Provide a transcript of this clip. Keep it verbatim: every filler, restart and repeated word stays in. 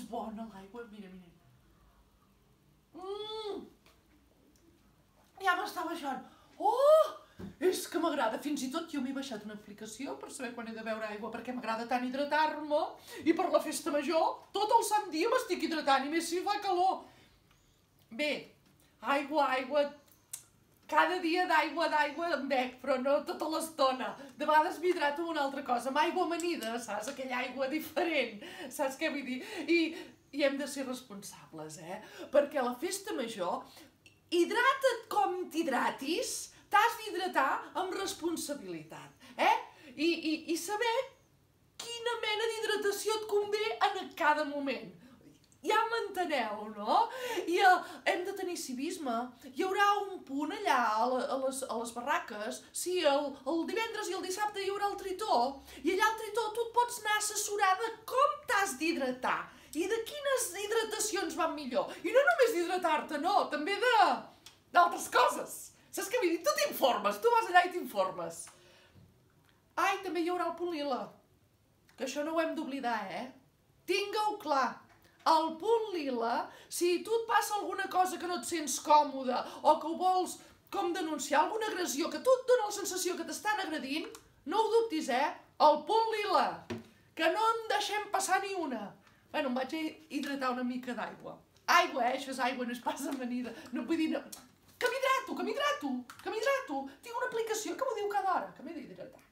bona l'aigua, mira, mira. Mmm! Ja m'està baixant. Oh! És que m'agrada, fins i tot jo m'he baixat una aplicació per saber quan he de beure aigua, perquè m'agrada tant hidratar-me, i per la festa major tot el sant dia m'estic hidratant, i més si fa calor. Bé, aigua, aigua, cada dia d'aigua, d'aigua em bec, però no tota l'estona. De vegades m'hidrato amb una altra cosa, amb aigua amanida, saps? Aquella aigua diferent, saps què vull dir? I, i hem de ser responsables, eh? Perquè a la festa major, hidrata't com t'hidratis, t'has d'hidratar amb responsabilitat, eh? I, i, i saber quina mena d'hidratació et convé en cada moment. Ja m'enteneu, no? I uh, hem de tenir civisme. Hi haurà un punt allà a, la, a, les, a les barraques, sí, el, el divendres i el dissabte hi haurà el tritó, i allà al tritó tu et pots anar a assessorar de com t'has d'hidratar i de quines hidratacions van millor. I no només d'hidratar-te, no, també de d'altres coses. Saps què vull dir? Tu t'informes, tu vas allà i t'informes. Ai, també hi haurà el punt lila, que això no ho hem d'oblidar, eh? Tinga-ho clar. El punt lila, si tu et passa alguna cosa que no et sents còmode o que ho vols com denunciar, alguna agressió, que tu et dona la sensació que t'estan agredint, no ho dubtis, eh? El punt lila, que no en deixem passar ni una. Bueno, em vaig a hidratar una mica d'aigua. Aigua, eh? Això és aigua, no és pas amanida. No vull dir... No... Que m'hidrato, que m'hidrato, que m'hidrato. Tinc una aplicació que m'ho diu cada hora, que m'he d'hidratar.